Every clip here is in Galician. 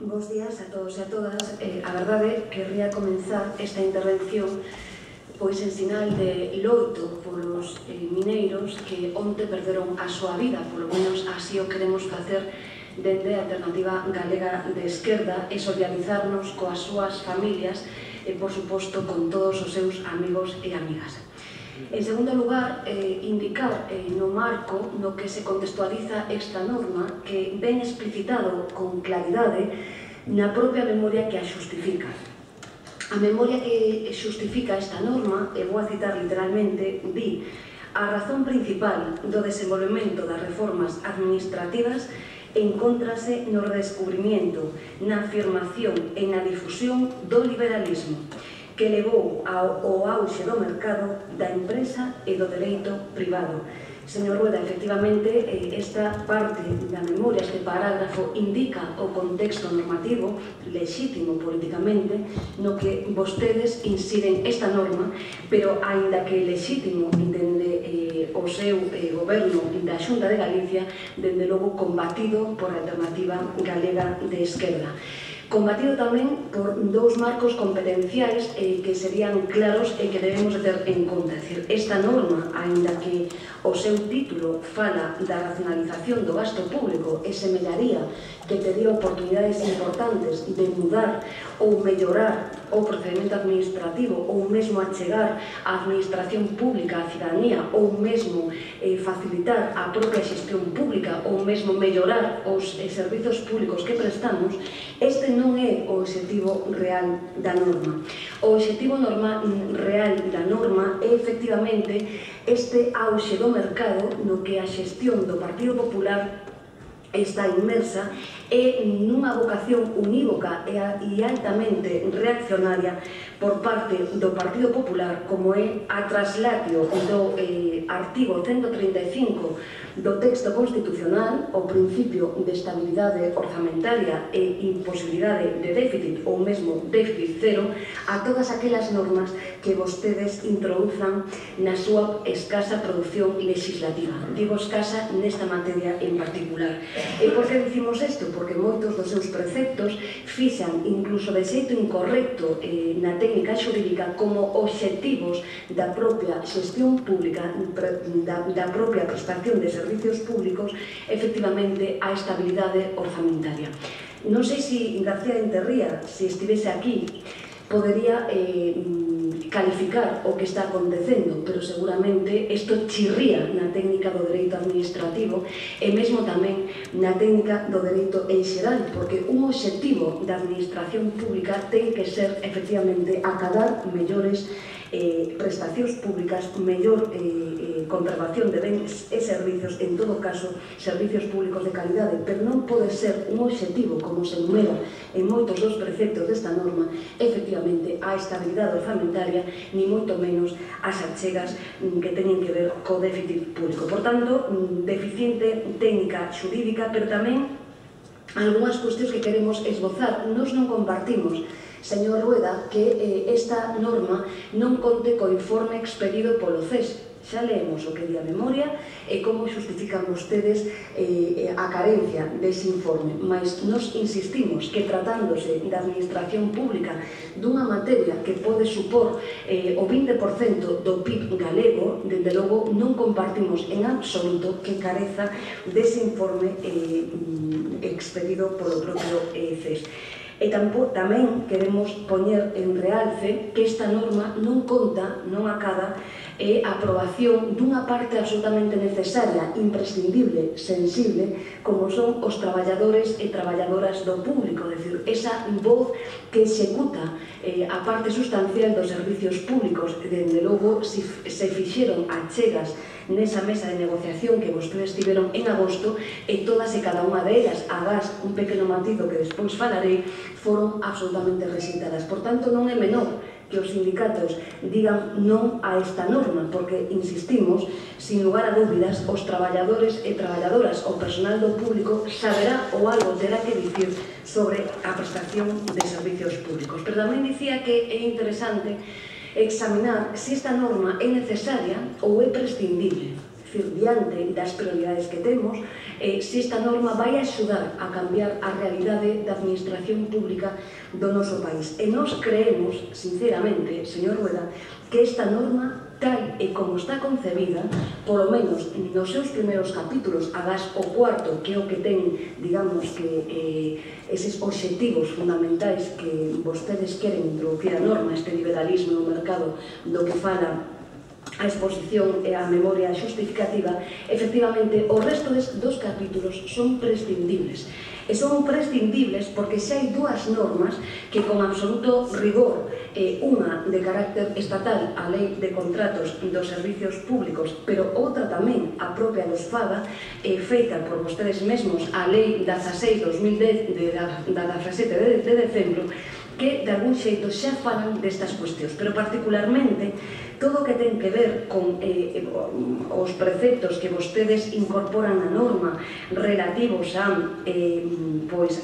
Bos días a todos e a todas. A verdade, querría comenzar esta intervención pois en sinal de loito polos mineiros que onte perderon a súa vida, polo menos así o queremos facer dende a Alternativa Galega de Esquerda, e solidarizarnos coas súas familias e, por suposto, con todos os seus amigos e amigas. En segundo lugar, indicar no marco no que se contextualiza esta norma que ven explicitado con claridade na propia memoria que a xustifica. A memoria que xustifica esta norma, e vou a citar literalmente, di: a razón principal do desenvolvemento das reformas administrativas encóntrase no redescubrimento, na afirmación e na difusión do liberalismo, que levou ao auxe do mercado, da empresa e do dereito privado. Señor Rueda, efectivamente, esta parte da memoria, este parágrafo, indica o contexto normativo, lexítimo políticamente, no que vostedes inciden esta norma, pero, aínda que lexítimo dende o seu goberno da Xunta de Galicia, dende logo combatido por a Alternativa Galega de Esquerda. Combatido tamén por dous marcos competenciais que serían claros e que debemos de ter en conta. É dicir, esta norma, aínda que o seu título fala da racionalización do gasto público e semellaría que tería oportunidades importantes de mudar ou mellorar o procedimento administrativo ou mesmo achegar a administración pública á cidadanía ou mesmo facilitar a propia xestión pública ou mesmo mellorar os servizos públicos que prestamos, este non é o obxectivo real da norma. O obxectivo real da norma é efectivamente este auxe do mercado no que a xestión do Partido Popular está inmersa e nunha vocación unívoca e altamente reaccionaria por parte do Partido Popular, como é a traslatio do artigo 135 do texto constitucional, o principio de estabilidade orzamentaria e imposibilidade de déficit ou mesmo déficit cero, a todas aquelas normas que vostedes introduzan na súa escasa produción legislativa. Digo escasa nesta materia en particular. E por que dicimos isto? Porque moitos dos seus preceptos fixan, incluso de xeito incorrecto na técnica xurídica, como obxectivos da propia xestión pública, da propia prestación de servicios públicos, efectivamente, a estabilidade orzamentaria. Non sei se García de Enterría, se estivese aquí, podería calificar o que está acontecendo, pero seguramente isto chirría na técnica do dereito administrativo e mesmo tamén na técnica do dereito en xeral, porque un obxectivo da administración pública ten que ser, efectivamente, acadar mellores prestacións públicas, mellor conservación de bens e servizos, en todo caso, servizos públicos de calidade, pero non pode ser un obxectivo, como se enumera en moitos dos preceptos desta norma, efectivamente, a estabilidade orzamentaria, ni moito menos as achegas que teñen que ver co déficit público. Por tanto, deficiente técnica xurídica, pero tamén algunhas cuestións que queremos esbozar. Nos non compartimos, señor Rueda, que esta norma non conte co informe expedido polo CES. Xa leemos o que di a memoria e como xustifican vostedes a carencia dese informe, mas nos insistimos que, tratándose da administración pública dunha materia que pode supor o 20% do PIB galego, dende logo non compartimos en absoluto que careza dese informe expedido polo propio CES. E tamén queremos poñer en realce que esta norma non conta, non acada, a aprobación dunha parte absolutamente necesaria, imprescindible, sensible, como son os traballadores e traballadoras do público, é dicir, esa voz que executa a parte sustancial dos servicios públicos. Dende logo, se fixeron achegas nesa mesa de negociación que vostedes tiveron en agosto, e todas e cada unha delas, agás un pequeno matizo que despois falarei, foron absolutamente rexeitadas. Por tanto, non é menor que os sindicatos digan non a esta norma, porque, insistimos, sin lugar a dúbidas, os traballadores e traballadoras, o personal do público, saberá ou algo terá que dicir sobre a prestación de servicios públicos. Pero tamén dicía que é interesante examinar se esta norma é necesaria ou é prescindible. diante das prioridades que temos, se esta norma vai axudar a cambiar a realidade da administración pública do noso país. E nós creemos, sinceramente, señor Rueda, que esta norma, tal e como está concebida, polo menos nos seus primeiros capítulos, agás o cuarto, que é o que ten, digamos, que eses obxectivos fundamentais que vostedes queren introducir a norma, este liberalismo no mercado do que fala a exposición e a memoria xustificativa, efectivamente, o resto dos capítulos son prescindibles. E son prescindibles porque xa hai dúas normas que con absoluto rigor, unha de carácter estatal, a Lei de Contratos dos Servicios Públicos, pero outra tamén, a propia dos FADA, feita por vostedes mesmos, a Lei 16/2010 da 17 de decembro, que de algún xeito xa falan destas cuestións, pero particularmente todo o que ten que ver con os preceptos que vostedes incorporan na norma relativos a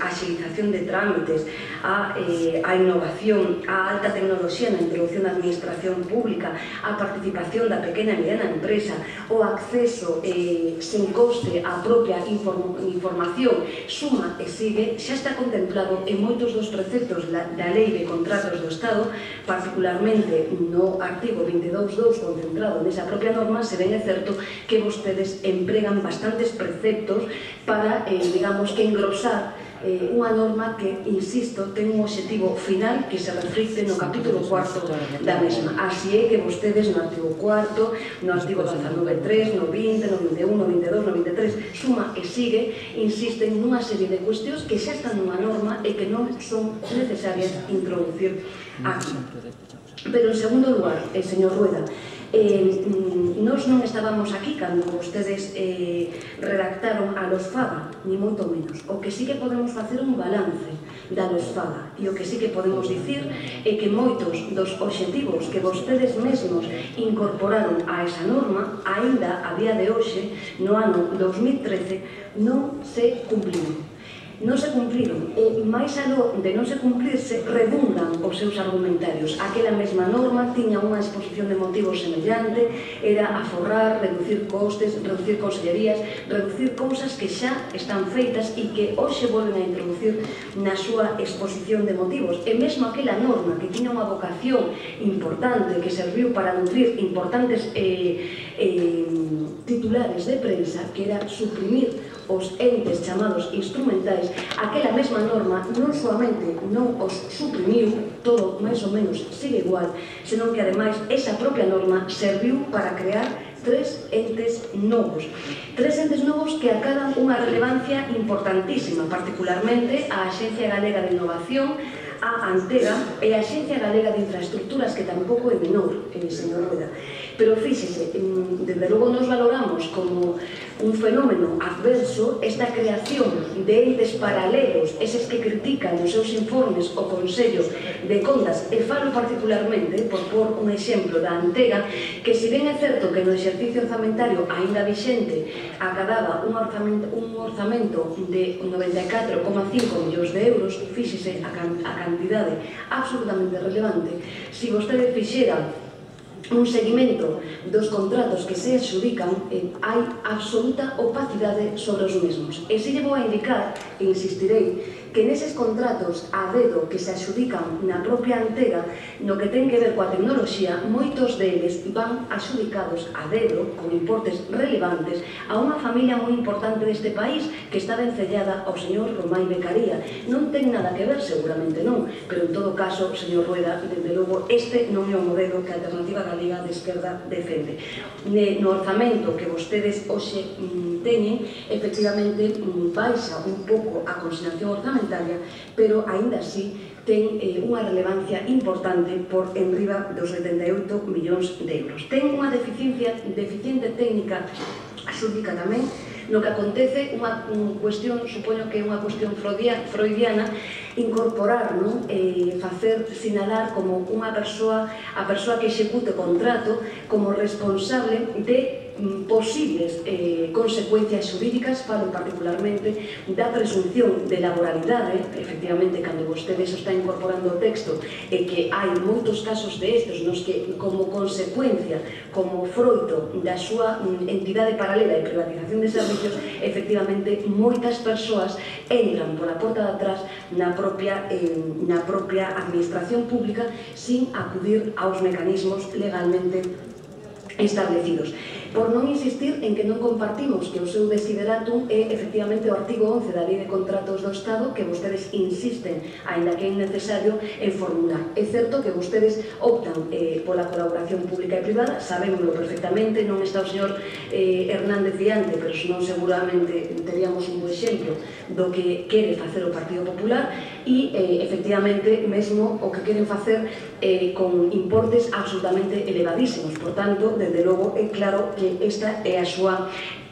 axilización de trámites, a innovación, a alta tecnoloxía na introducción da administración pública, a participación da pequena e mediana empresa, o acceso sen coste á propia información, suma e sigue, xa está contemplado en moitos dos preceptos da Lei de Contratos do Estado, particularmente no artigo 22.2 concentrado nesa propia norma. Se ven, é certo que vostedes empregan bastantes preceptos para, digamos, que engrosar unha norma que, insisto, ten un obxectivo final que se reflicte no capítulo 4 da mesma. Así é que vostedes no artigo 4, no artigo 19.3, no 20, no 21, no 22, no 23, suma e sigue, insisten nunha serie de cuestións que xa están nunha norma e que non son necesarias introducir aquí. Pero, en segundo lugar, señor Rueda, nós non estábamos aquí cando vostedes redactaron a los FADA, ni moito menos. O que sí que podemos facer un balance da los FADA, e o que sí que podemos dicir é que moitos dos obxectivos que vostedes mesmos incorporaron a esa norma, aínda a día de hoxe, no ano 2013, non se cumpliron. Non se cumpliron, e máis aló de non se cumplirse, redundan os seus argumentarios. Aquela mesma norma tiña unha exposición de motivos semellante, era aforrar, reducir costes, reducir consellerías, reducir cousas que xa están feitas e que hoxe volven a introducir na súa exposición de motivos. E mesmo aquela norma que tiña unha vocación importante, que serviu para nutrir importantes titulares de prensa, que era suprimir os entes chamados instrumentais, aquela mesma norma non solamente non os suprimiu, todo máis ou menos sigue igual, senón que ademais esa propia norma serviu para crear tres entes novos que acadan unha relevancia importantísima, particularmente a Axencia Galega de Innovación, a Antega e a Axencia Galega de Infraestructuras, que tampouco é menor, señor Rueda. Pero fíxese, desde logo nos valoramos como un fenómeno adverso esta creación de entes paralelos, eses que critican nos seus informes o Consello de Contas, e falo particularmente, por pôr un exemplo da Antega, que se ben é certo que no exercicio orzamentario aínda vixente acadaba un orzamento de 94,5 millóns de euros, fíxese a cantidade absolutamente relevante, se vostede fixera un seguimento dos contratos que se adxudican, hai absoluta opacidade sobre os mesmos. E se lle vou a indicar, e insistirei, que neses contratos a dedo que se adxudican na propia Antega, no que ten que ver coa tecnoloxía, moitos deles van adxudicados a dedo, con importes relevantes, a unha familia moi importante deste país que está vencellada ao señor Romai Becaría. Non ten nada que ver, seguramente non, pero en todo caso, señor Rueda, desde logo, este non é o modelo que a Alternativa Galega de Esquerda defende. No orzamento que vostedes hoxe teñen, efectivamente, baixa un pouco a consignación orzamentaria, pero aínda así ten unha relevancia importante por enriba dos 78 millóns de euros. Ten unha deficiente técnica xúdica tamén, no que acontece unha cuestión, supoño que é unha cuestión freudiana, incorporar, facer sinalar como unha persoa, a persoa que execute o contrato, como responsable de posibles consecuencias xurídicas, falo particularmente da presunción de laboralidade. Efectivamente, cando vostedes está incorporando o texto, é que hai moitos casos de estes nos que, como consecuencia, como froito da súa entidade paralela de privatización de servicios, efectivamente, moitas persoas entran pola porta de atrás na propia administración pública sin acudir aos mecanismos legalmente establecidos. Por non insistir en que non compartimos que o seu desideratum é efectivamente o artigo 11 da Lei de Contratos do Estado, que vostedes insisten, aínda que é innecesario, en formular. É certo que vostedes optan pola colaboración pública e privada, sabémoslo perfectamente, non está o señor Hernández diante, pero senón seguramente teríamos un bo exemplo do que quere facer o Partido Popular e, efectivamente, mesmo o que queren facer con importes absolutamente elevadísimos. Por tanto, desde logo, é claro que esta é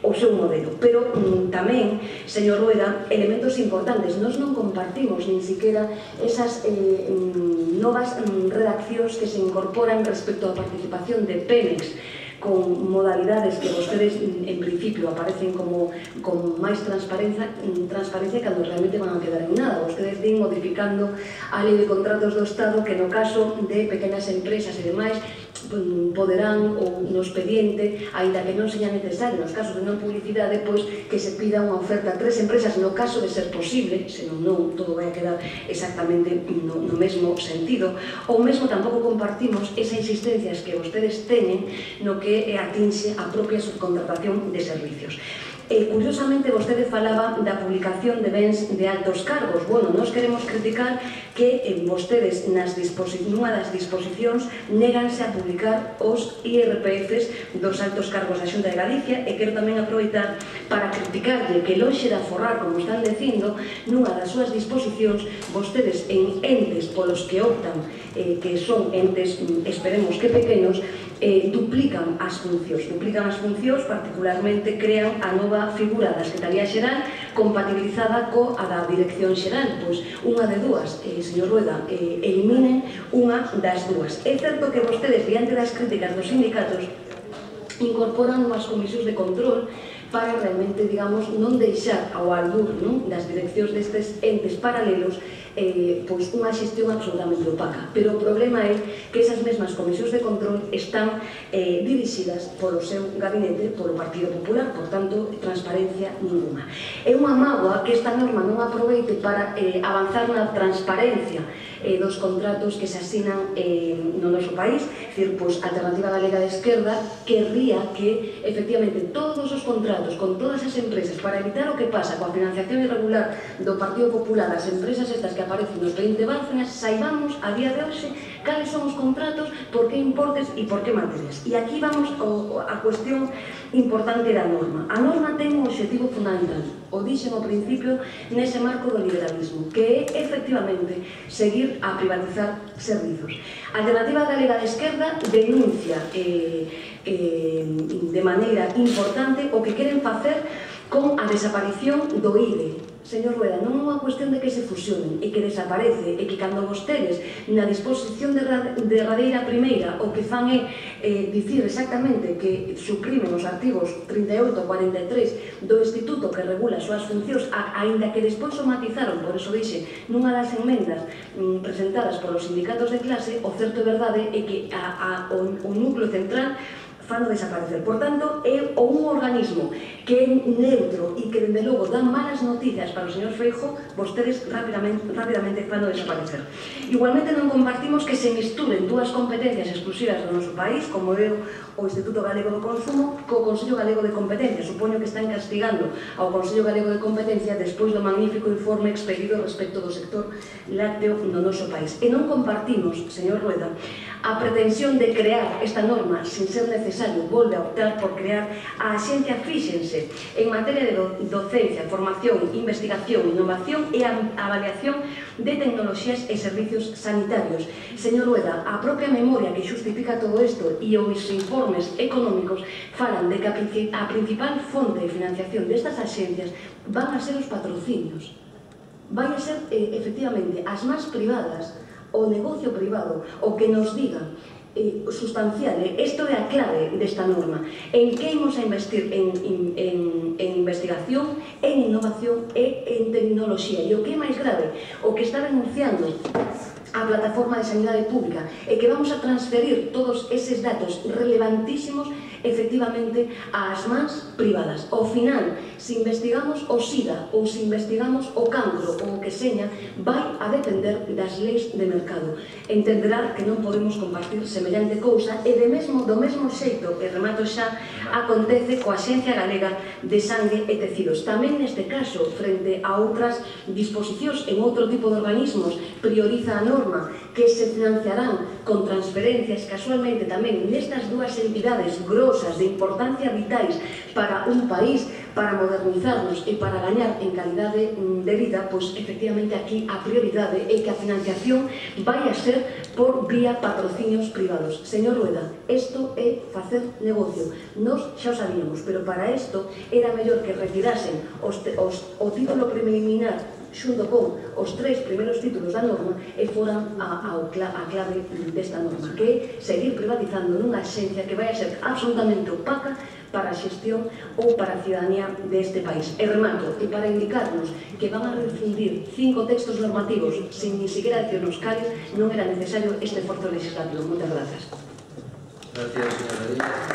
o seu modelo. Pero tamén, señor Rueda, elementos importantes. Nós non compartimos nin siquiera esas novas redaccións que se incorporan respecto á participación de Pemex, con modalidades que vostedes en principio aparecen como máis transparencia cando realmente van a quedar en nada. Vostedes din modificando a Lei de Contratos do Estado que no caso de pequenas empresas e demais poderán, ou no expediente, aínda que non seña necesario nos casos de non publicidade, pois que se pida unha oferta a 3 empresas no caso de ser posible, senón non, todo vai a quedar exactamente no mesmo sentido. Ou mesmo tampouco compartimos esa insistencia que vostedes teñen no que atinxe a propia subcontratación de servicios. Curiosamente, vostede falaba da publicación de bens de altos cargos. Bueno, nós queremos criticar que vostedes nunha das disposicións néganse a publicar os IRPFs dos altos cargos da Xunta de Galicia, e quero tamén aproveitar para criticarlle que lonxe de aforrar, como están dicindo, nunha das súas disposicións, vostedes en entes polos que optan, que son entes, esperemos que pequenos, duplican as funcións, particularmente crean a nova figura da Secretaría Xeral compatibilizada coa da Dirección Xeral. Pois unha de dúas, señor Rueda, eliminen unha das dúas. É certo que vostedes, diante das críticas dos sindicatos, incorporan unhas comisións de control para realmente, digamos, non deixar ao albur das direccións destes entes paralelos pois unha xestión absolutamente opaca. Pero o problema é que esas mesmas comisións de control están dirixidas polo seu gabinete, polo Partido Popular, por tanto, transparencia ninguna. É unha mágoa que esta norma non aproveite para avanzar na transparencia dos contratos que se asinan no noso país. Dicir, pois, a Alternativa Galega de Esquerda querría que, efectivamente, todos os contratos con todas as empresas, para evitar o que pasa coa financiación irregular do Partido Popular, as empresas estas que aparecen nos 20 Bárcenas, saibamos a día de hoxe cales son os contratos, por que importes e por que materias. E aquí vamos a cuestión importante da norma. A norma ten un obxectivo fundamental, o dixen ao principio nese marco do liberalismo, que é, efectivamente, seguir a privatizar servizos. A Alternativa Galega de Esquerda denuncia de maneira importante o que queren facer con a desaparición do IDE. Señor Rueda, non é unha cuestión de que se fusionen e que desaparece, e que cando vostedes na disposición derradeira primeira o que fan é dicir exactamente que suprimen os artigos 38 e 43 do Instituto que regula as súas funcións, aínda que despois o matizaron, por eso dixe, nunha das enmendas presentadas polos sindicatos de clase, o certo e verdade é que o núcleo central fano desaparecer. Por tanto, é un organismo que é neutro e que, dende logo, dan malas noticias para o señor Feijóo, vostedes rapidamente fano desaparecer. Igualmente non compartimos que se misturen dúas competencias exclusivas do noso país, como é o Instituto Galego do Consumo, co Consello Galego de Competencia. Supoño que están castigando ao Consello Galego de Competencia despois do magnífico informe expedido respecto do sector lácteo no noso país. E non compartimos, señor Rueda, a pretensión de crear esta norma sin ser necesario, volve a optar por crear a Axencia Fíxense en materia de docencia, formación, investigación, innovación e avaliación de tecnoloxías e servicios sanitarios. Señor Rueda, a propia memoria que xustifica todo isto e os informes económicos falan de que a principal fonte de financiación destas axencias van a ser os patrocinios. vai a ser, efectivamente, as más privadas, o negocio privado, o que nos diga sustancial, isto é a clave desta norma, en que imos a investir en investigación, en innovación e en tecnoloxía. E o que é máis grave, o que está denunciando a plataforma de sanidade pública é que vamos a transferir todos eses datos relevantísimos efectivamente ás mans privadas. Ao final, se investigamos o SIDA ou se investigamos o cancro ou o que seña, vai a depender das leis de mercado. Entenderá que non podemos compartir semellante cousa e do mesmo xeito, e remato xa, acontece coa Axencia Galega de Sangue e Tecidos. Tamén neste caso, frente a outras disposicións en outro tipo de organismos, prioriza a norma que se financiarán con transferencias, casualmente tamén nestas dúas entidades grosas de importancia vitais para un país, para modernizarnos e para gañar en calidade de vida, pois efectivamente aquí a prioridade é que a financiación vai a ser por vía patrocinios privados. Señor Rueda, isto é facer negocio. Nos xa o sabíamos, pero para isto era mellor que retirasen o título preliminar xunto con os 3 primeiros títulos da norma e foran a clave desta norma, que é seguir privatizando nunha axencia que vai a ser absolutamente opaca para a xestión ou para a ciudadanía deste país. E remato, e para indicarnos que van a refundir 5 textos normativos sin ni siquiera decirnos cales, non era necesario este esforzo legislativo. Moitas grazas. Gracias, señora María.